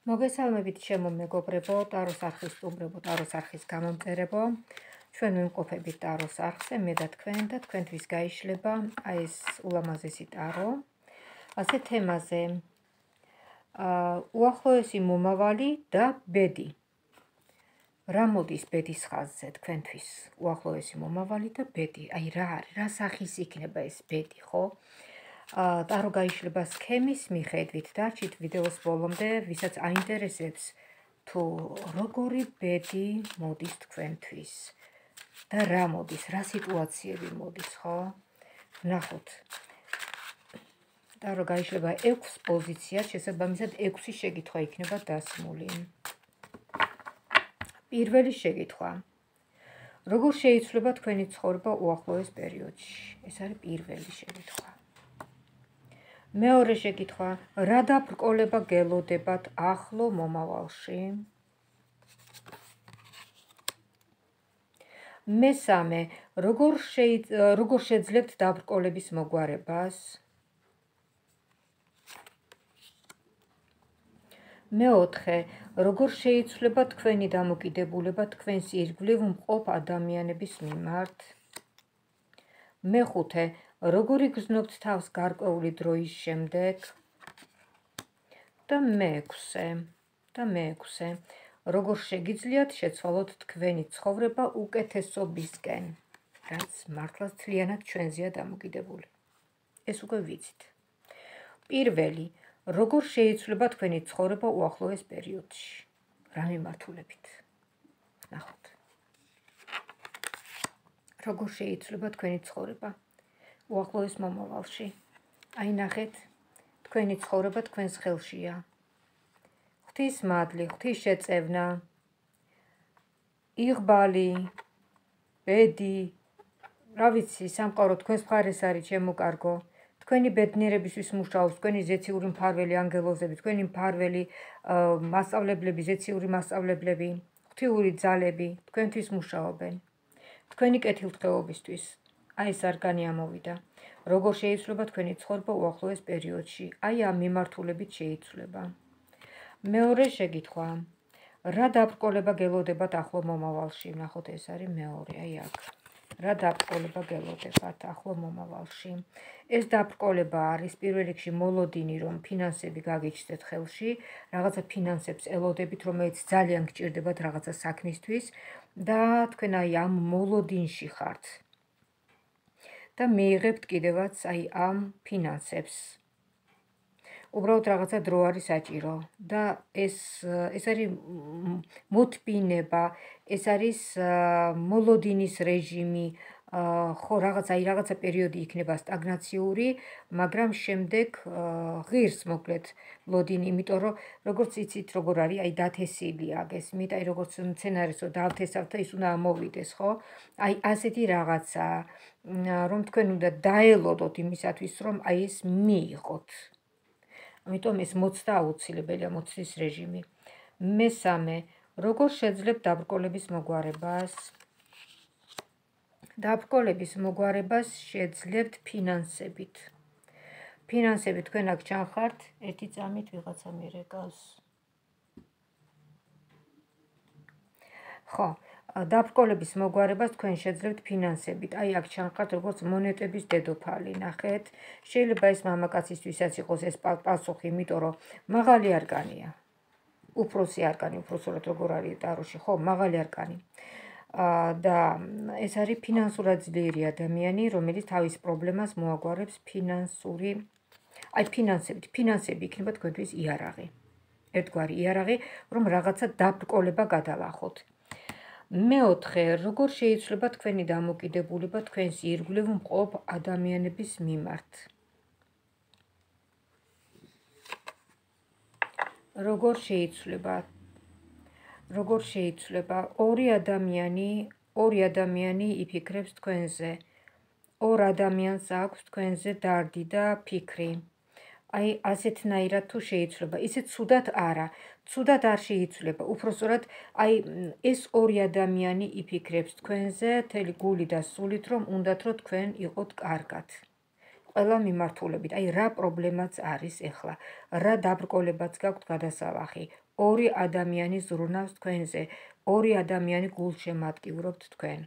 მოგესალმებით ჩემო მეგობრებო, ტაროს არხის სტუმრებო, ტაროს არხის გამომწერებო. ჩვენ ვიმყოფებით ტაროს არხზე, მე და თქვენთვის გაიშლება აი ეს ულამაზესი ტარო. ასე თემაზე უახლოესი მომავალი და ბედი. რა მოდის ბედის ხაზზე თქვენთვის? უახლოესი მომავალი და ბედი. აი რა არის? რა სახის იქნება ეს ბედი, ხო? ტარო გაიშლება სქემის მიხედვით. დარჩით ვიდეოს ბოლომდე, ვისაც აინტერესებს თუ როგორი ბედი მოდის თქვენთვის და რა მოდის, რა სიტუაციები მოდის, ხო? ვნახოთ. ტარო გაიშლება 6 პოზიციად, შესაბამისად 6 შეკითხვა იქნება დასმული. პირველი შეკითხვა. როგორ შეიცვლება თქვენი ცხოვრება უახლოეს პერიოდში? ეს არის პირველი შეკითხვა. მეორე შეკითხვა. რა დაბრკოლება გელოდებათ ახლო მომავალში? მესამე. როგორ შეძლებთ დაბრკოლების მოგვარებას? მეოთხე. როგორ შეიცვლება თქვენი დამოკიდებულება თქვენს ირგვლივ მყოფ ადამიანების მიმართ? მეხუთე. როგორ იგრძნობთ თავს გარკვეული დროის შემდეგ? და მეექვსე. როგორ შეგიძლიათ შეცვალოთ თქვენი ცხოვრება უკეთესობისკენ, რაც მართლაც მთლიანად ჩვენზეა დამოკიდებული. ეს უკვე ვიცით. პირველი. როგორ შეიცვლება თქვენი ცხოვრება უახლოეს პერიოდში? რა მიმართულებით? ნახოთ. როგორ შეიცვლება თქვენი ცხოვრება უახლოეს მომავალში? აი ნახეთ, თქვენი ცხოვრება თქვენს ხელშია. ღვთის მადლი, ღვთის შეწევნა, იღბალი, ბედი, რა ვიცი, სამყარო თქვენს მხარეს არის, ჩემო კარგო. თქვენი ბედნიერებისთვის მუშაობს, თქვენი ზეციური მფარველი ანგელოზები, თქვენი მფარველი მასწავლებლები, ზეციური მასწავლებლები, ღვთიური ძალები თქვენთვის მუშაობენ. თქვენი კეთილდღეობისთვის. აი ეს არგანი ამოვიდა. როგორ შეიცვლება თქვენი ცხოვრება უახლოეს პერიოდში? აი ამ მიმართულებით შეიცვლება. მეორე შეკითხვა. რა დაბრკოლება გელოდებათ ახლო მომავალში? ნახოთ, ეს არის მეორე, აი აქ. რა დაბრკოლება გელოდებათ ახლო მომავალში? ეს დაბრკოლება არის პირველ რიგში მოლოდინი, რომ ფინანსები გაგიჩნდეთ ხელში, რაღაცა ფინანსებს ელოდებით, რომელიც ძალიან გჭირდებათ რაღაცა საქმისთვის და თქვენ აი ამ მოლოდინში ხართ. და მიიღებთ კიდევაც აი ამ ფინანსებს. უბრალოდ რაღაცა დრო არის საჭირო და ეს არის მოთბინება, ეს არის მოლოდინის რეჟიმი, ხო რაღაცა პერიოდი იქნება სტაგნაციური, მაგრამ შემდეგ ღირს მოკლედ ლოდინი, იმიტომ რომ როგორც იცით როგორ არის, აი დათესილია გესმით, აი როგორც მცენარესო დავთესავთ და ის უნდა ამოვიდეს, ხო? აი ასეთი რაღაცა, რომ თქვენ უნდა დაელოდოთ იმისათვის, რომ აი ეს მიიღოთ. ამიტომ ეს მოცდა აუცილებელია, მოცდის რეჟიმი. მესამე. როგორ შეძლებთ დაბრკოლების მოგვარებას? დაბრკოლების მოგვარებას შეძლებთ ფინანსებით. ფინანსები თქვენ აქ ჩანხართ, ერთი წამით ვიღაცა მირეკავს. ხო, დაბრკოლების მოგვარებას თქვენ შეძლებთ ფინანსებით. აი აქ ჩანხართ როგორც მონეტების დედოფალი, ნახეთ. შეიძლება ეს მამაკაცისთვისაც იყოს ეს პასუხი, იმიტომ რომ მაღალი არკანია. უფროსი არკანი, უფროსურად როგორ არის ტაროში, ხო, მაღალი არკანი. და ეს არის ფინანსურად ძლიერი ადამიანი, რომელიც თავის პრობლემას მოაგვარებს ფინანსური, აი ფინანსები იქნება თქვენთვის იარაღი. ერთგვარი იარაღი, რომ რაღაცა დაბრკოლება გადალახოთ. მეოთხე, როგორ შეიცვლება თქვენი დამოკიდებულება თქვენს ირგვლივ მყოფ ადამიანების მიმართ? როგორ შეიცვლება? ორი ადამიანი იფიქრებს თქვენზე. ორ ადამიანს აქვს თქვენზე დარდი და ფიქრი. აი ასეთნაირად თუ შეიცვლება, ისე ცუდად არა. ცუდად არ შეიცვლება. უпроსტად აი ეს ორი ადამიანი იფიქრებს თქვენზე მთელი გული და სულით, რომ უნდათ რომ თქვენ იყოთ კარგად. ყველა მიმართულებით. აი რა პრობლემაც არის ეხლა, რა დაბრკოლებაც გაქვთ გადასალახი. ორი ადამიანი ზრუნავს თქვენზე, ორი ადამიანი გულშემატკივრობთ თქვენ.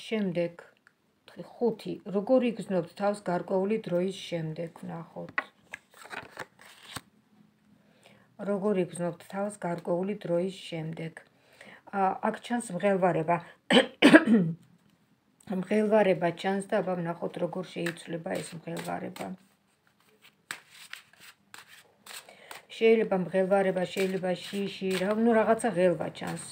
შემდეგ 5. როგორ იგრძნობთ თავს გარკვეული დროის შემდეგ, ვნახოთ. როგორ იგრძნობთ თავს გარკვეული დროის შემდეგ. აქ ჩანს მღელვარება. მღელვარება ჩანს და აბა ვნახოთ როგორ შეიცვლება ეს მღელვარება. შეიძლება მღელვარება, შეიძლება შიში, რაღაცა ღელვა ჩანს.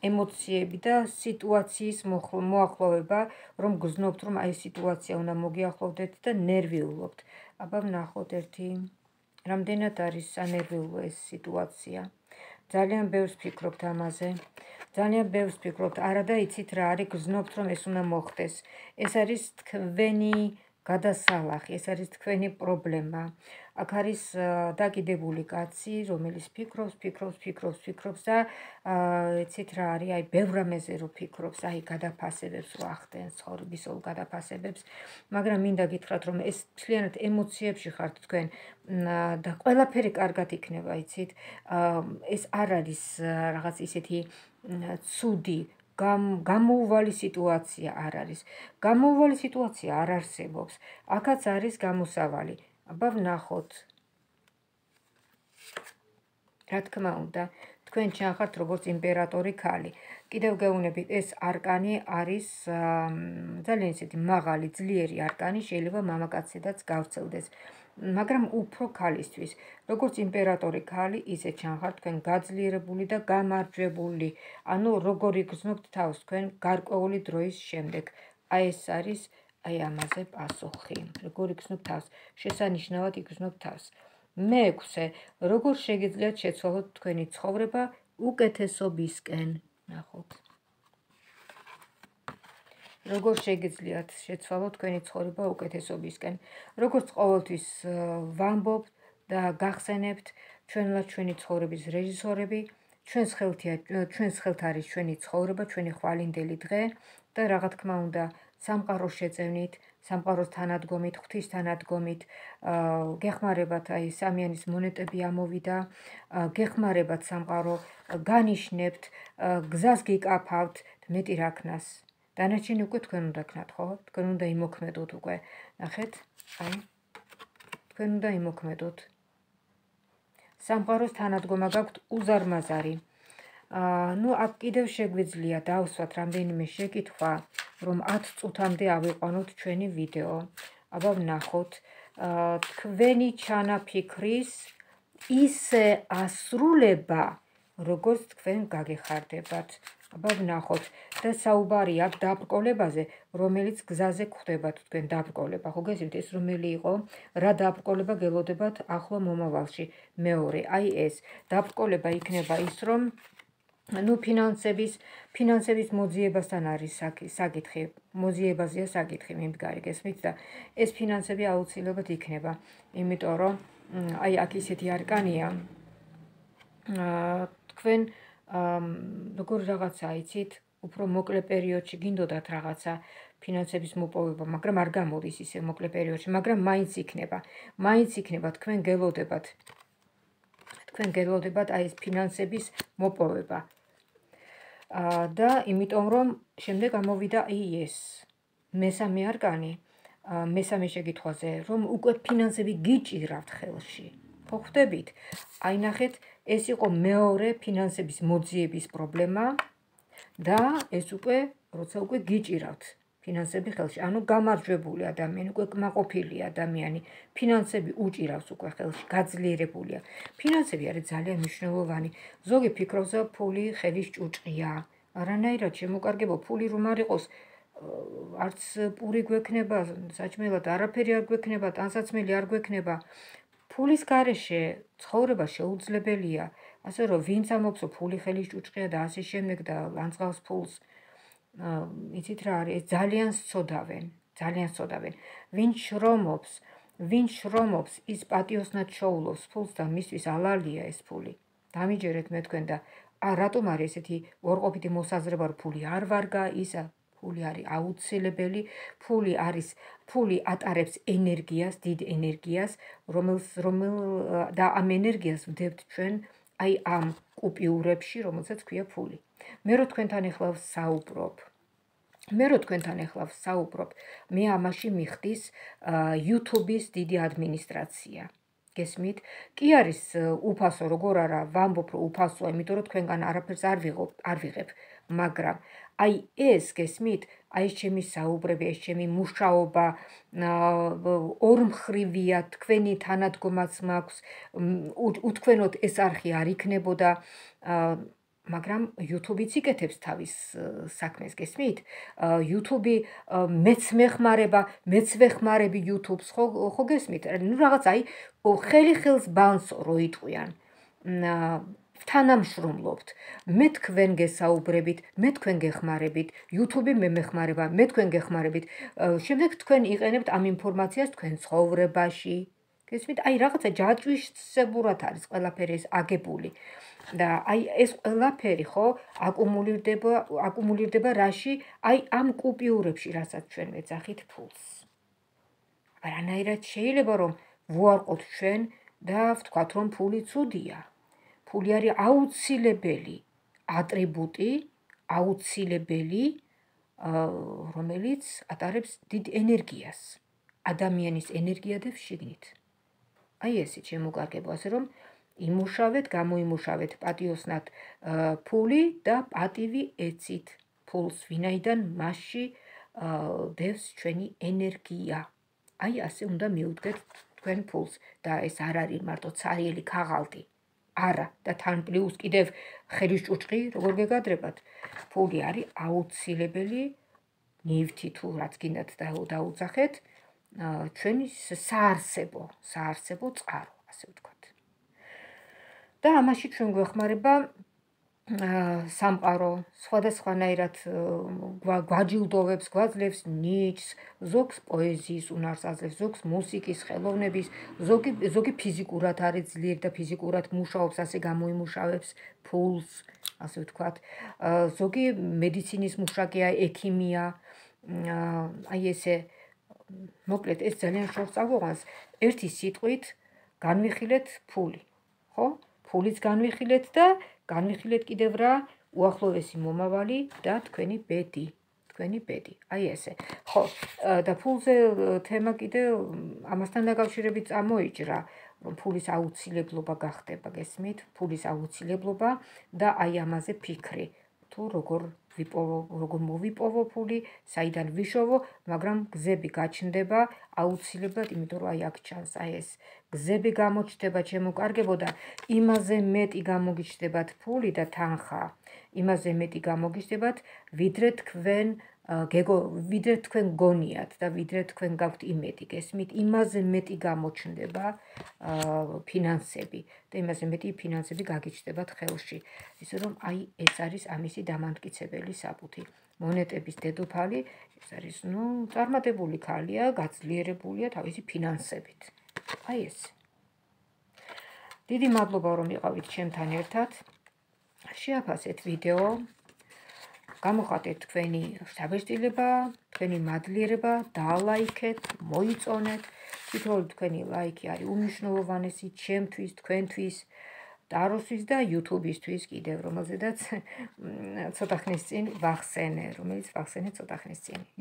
ემოციები და სიტუაციის მოახლოვება, რომ გრძნობთ, რომ აი სიტუაცია უნდა მოგიახლოვდეთ და ნერვიულობთ. აბა ვნახოთ ერთი, რამდენად არის სანერვიულო ეს სიტუაცია. ძალიან ბევრს ფიქრობთ ამაზე. ძალიან ბევრს ფიქრობთ, არა და იცით რა არის, გრძნობთ, რომ ეს უნდა მოხდეს. ეს არის თქვენი გადასალახი, ეს არის თქვენი პრობლემა. აქ არის დაკიდებული კაცი, რომელიც ფიქრობს და იცით რა არის, აი ბევრ რამეზე რო ფიქრობს, აი გადაფასებებს რო ახდენს, ცხოვრებისეულ გადაფასებებს, მაგრამ მინდა გითხრათ, რომ ეს მთლიანად ემოციებში ხართ თქვენ და ყველაფერი კარგად იქნება, იცით. ეს არ არის რაღაც ისეთი ცუდი გამოუვალი სიტუაცია არ არის. გამოუვალი სიტუაცია არ არსებობს. აქაც არის გამოსავალი. აბა ვნახოთ. რა თქმა უნდა, თქვენ ჩანხართ როგორც იმპერატორი ქალი. კიდევ გეუბნებით, ეს არკანი არის ძალიან ისეთი მაღალი, ძლიერი არკანი, შეიძლება მამაკაცედაც გავრცელდეს. მაგრამ უფრო ქალისთვის, როგორც იმპერატორი ქალი, ისე ჩანხართ თქვენ გაძლიერებული და გამარჯვებული. ანუ როგორ იგრძნობთ თავს თქვენ გარკვეული დროის შემდეგ. აი ეს არის აი ამაზე პასუხი. როგორ იგრძნობთ თავს? შესანიშნავად იგრძნობთ თავს. 6. როგორ შეგიძლიათ შეცვალოთ თქვენი ცხოვრება უკეთესობისკენ? ნახოთ. როგორ შეგიძლიათ შეცვალოთ თქვენი ცხოვრება უკეთესობისკენ? როგორც ყოველთვის ვამბობთ და გახსენებთ, ჩვენლა ჩვენი ცხოვრების რეჟისორები, ჩვენს ხელთ არის ჩვენი ცხოვრება, ჩვენი ხვალინდელი დღე და რა თქმა უნდა, სამყაროს შეწევნით, სამყაროს თანადგომით, ღვთის თანადგომით, გეხმარებათ აი სამიანის მონეტები ამოვიდა, გეხმარებათ სამყარო, განიშნებთ, გზას გიკაფავთ, მეტი რა ქნას. დანარჩენი უკვე თქვენ უნდა ქნათ, ხო? თქვენ უნდა იმოქმედოთ უკვე. ნახეთ, აი. თქვენ უნდა იმოქმედოთ. სამყაროს თანადგომა გაქვთ უზარმაზარი. ნუ აქ კიდევ შეგვიძლია დავსვათ რამდენიმე შეკითხვა, რომ 10 წუთამდე ავიყვანოთ ჩვენი ვიდეო. აბა ვნახოთ, თქვენი ჩანაფიქრის ისე ასრულება, როგორც თქვენ გაგეხარდებათ. აბა ვნახოთ და საუბარი აქვს დაბრკოლებაზე, რომელიც გზაზე გვხვდებათ თქვენ დაბრკოლება. ხო გესმით, ეს რომელი იყო? რა დაბრკოლება გელოდებათ ახლო მომავალში? მეორე, აი ეს დაბრკოლება იქნება ის, რომ ნუ ფინანსების მოძიებასთან არის საკითხი, მოძიებაზეა საკითხი, მიმდგარი, გესმით და ეს ფინანსები აუცილებლად იქნება, იმიტომ რომ აი აქ ისეთი არკანია, თქვენ როგორ რაღაცა იცით, უფრო მოკლე პერიოდში გინდოდათ რაღაცა ფინანსების მოპოვება, მაგრამ არ გამოდის ისე მოკლე პერიოდში, მაგრამ მაინც იქნება, თქვენ გელოდებათ აი ეს ფინანსების მოპოვება. და იმიტომ რომ შემდეგ ამოვიდა ეს მესამე არკანი, მესამე შეკითხვაზე, რომ უკვე ფინანსები გიჭირავთ ხელში. ხო ხვდებით? აი ნახეთ, ეს იყო მეორე ფინანსების მოძიების პრობლემა და ეს როცა უკვე გიჭირავთ ფინანსები ხელში, ანუ გამარჯვებული ადამიანი, უკვე კმაყოფილი ადამიანი, ფინანსები უჭირავს უკვე ხელში, გაძლიერებულია. ფინანსები არის ძალიან მნიშვნელოვანი. ზოგი ფიქრობს, რომ ფული ხელის ჭუჭყია. არანაირად შემოკარგებო, ფული რომ არ იყოს, არც პური გვექნება, საჭმელად არაფერი არ გვექნება, ტანსაცმელი არ გვექნება. ფულის გარეშე ცხოვრება შეუძლებელია. ასე რომ ვინც ამბობს, რომ ფული ხელის ჭუჭყია და ასე შემდეგ და ლანძღავს ფულს, იცით რა არის, ძალიან სწოდავენ. ვინც შრომობს, ის პატიოსნად შოულობს ფულს და მისთვის ალალია ეს ფული. დამიჯერეთ მე თქვენ და რატომ არის ესეთი უარყოფითი მოსაზრება, რომ ფული არ ვარგა, ისა ფული არის აუცილებელი, ფული ატარებს ენერგიას, დიდ ენერგიას, და ამ ენერგიას ვდებთ ჩვენ აი ამ კუპიურებში, რომელსაც ქვია ფული. მე რო თქვენთან ეხლა ვსაუბრობ, მე ამაში მიხდის YouTube-ის დიდი ადმინისტრაცია. გესმით? კი არის უფასო, როგორ არა, ვამბობ რომ უფასოა, იმიტომ რომ თქვენგან არაფერს არ ვიღებ, მაგრამ აი ეს გესმით, აი ეს ჩემი საუბრები, ეს ჩემი მუშაობა ორმხრივია, თქვენი თანადგომაც მაქვს, უთქვენოდ ეს არხი არ იქნებოდა, მაგრამ YouTube-იც იკეთებს თავის საქმეს, გესმით? YouTube მეც ვეხმარები YouTube-ს, ხო გესმით? ნუ რაღაც აი ხელი ხელს ბანსო რო იტყვიან. თანამშრომლობთ. მე თქვენ გესაუბრებით, მე თქვენ გეხმარებით, YouTube მე მეხმარება, მე თქვენ გეხმარებით. შემდეგ თქვენ იყენებთ ამ ინფორმაციას თქვენ ცხოვრებაში. გესმით? აი რაღაცა ჯაჭვისებურად არის ყველაფერი ეს აგებული. და აი ეს ყველაფერი ხო აკუმულირდება რაში? აი ამ კუპიურებში, რასაც ჩვენ ვეძახით ფულს. არანაირად შეიძლება რომ ვუარყოთ ჩვენ და ვთქვათ რომ ფული ცუდია. ფული არის აუცილებელი ატრიბუტი, აუცილებელი, რომელიც ატარებს დიდ ენერგიას, ადამიანის ენერგიადებს შიგნით. აი ესე შემოგარგება, ასე რომ იმუშავეთ, გამოიმუშავეთ პატიოსნად ფული და პატივი ეცით ფულს, ვინაიდან მასში დევს ჩვენი ენერგია. აი ასე უნდა მიუდგეთ თქვენ ფულს და ეს არ არის მარტო ცარიელი ქაღალდი. არა და თან პლუს კიდევ ხელის ჭუჭყი, როგორ გეგადრებათ. ფული არის აუცილებელი ნივთი თუ რაც გინდათ დაუძახეთ, ჩვენი საარსებო წყარო, ასე ვთქვათ. და ამაში ჩვენ გვეხმარება სამყარო, სხვადასხვანაირად გვაჯილდოვებს, გვაძლევს ნიჭს, ზოგს პოეზიის უნარს აძლევს, ზოგს მუსიკის, ხელოვნების, ზოგი ფიზიკურად არის ძლიერი და ფიზიკურად მუშაობს, ასე გამოიმუშავებს ფულს, ასე ვთქვათ. ზოგი მედიცინის მუშაკია, ექიმია, აი ესე, მოკლედ ეს ძალიან შორს წაგვიყვანს, ერთი სიტყვით განვიხილეთ ფული, ხო? ფულიც განვიხილეთ და განვიხილეთ კიდევ რა? უახლოვესი მომავალი და თქვენი ბედი. აი ესე. ხო, და ფულზე თემა კიდევ ამასთან დაკავშირებით წამოიჭრა, რომ ფულის აუცილებლობა გახდება, გესმით? ფულის აუცილებლობა და აი ამაზე ფიქრი. თუ როგორ მოვიპოვო ფული, საიდან ვიშოვო, მაგრამ გზები გაჩნდება აუცილებლად, იმიტომ რომ აი აქ ჩანს აი ეს გზები გამოჩნდება, ჩემოკარგებო და იმაზე მეტი გამოგიჩნდებათ ფული და თანხა, იმაზე მეტი გამოგიჩნდებათ, ვიდრე თქვენ გონიათ და ვიდრე თქვენ გაქვთ იმედი, გესმით? იმაზე მეტი გამოჩნდება ფინანსები და იმაზე მეტი ფინანსები გაგიჩნდებათ ხელში. ისე რომ აი ეს არის ამისი დამამტკიცებელი საფუძვი. მონეტების დედოფალი, ეს არის, წარმატებული ქალია, გაძლიერებულია თავისი ფინანსებით. აი ეს. დიდი მადლობა რომ იყავით ჩემთან ერთად. შეაფასეთ ვიდეო. გამოხატეთ თქვენი შთაბეჭდილება, თქვენი მადლიერება, დაალაიქეთ, მოიწონეთ. თითოეული თქვენი ლაიქი არის უმნიშვნელოვანესი ჩემთვის, თქვენთვის, ტაროსთვის და YouTube-ისთვის კიდევ, რომელზედაც ცოტა ხნის წინ ვახსენე,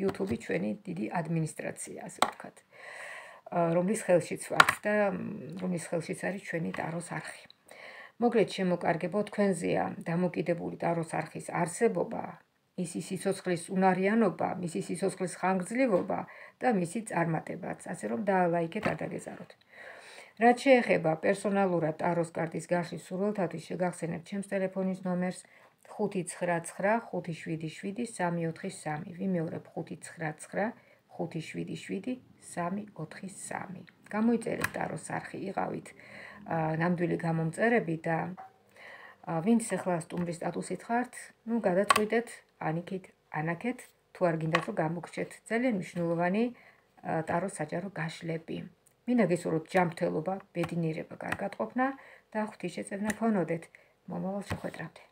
YouTube ჩვენი დიდი ადმინისტრაცია, ასე ვთქვათ, რომლის ხელშიც ვართ და რომლის ხელშიც არის ჩვენი ტაროს არხი. მოკლედ შემოკარგებო, თქვენზეა დამოკიდებული ტაროს არხის არსებობა, მისი სიცოცხლის უნარიანობა, მისი სიცოცხლის ხანგრძლივობა და მისი წარმატებაც, ასე რომ დაალაიქეთ, არ დაგეზაროთ. რაც შეეხება პერსონალურად ტაროს კარტის გაშლის სურვილთათვის, შეგახსენებთ ჩემს ტელეფონის ნომერს 599577343. ვიმეორებ 599577343. გამოიწერეთ ტაროს არხი, იყავით ნამდვილი გამომწერები და ვინც ახლა სტუმრის სტატუსით ხართ, გადაწყვიტეთ, ანაქეთ, თუ არ გინდათ რომ გამოგრჩეთ ძალიან მნიშვნელოვანი ტაროს საჯარო გაშლები. მინდა გესურვოთ ჯანმრთელობა, ბედნიერება, კარგად ყოფნა და ღვთისმშეწევნა გქონოდეთ. მომავალ შეხვედრამდე.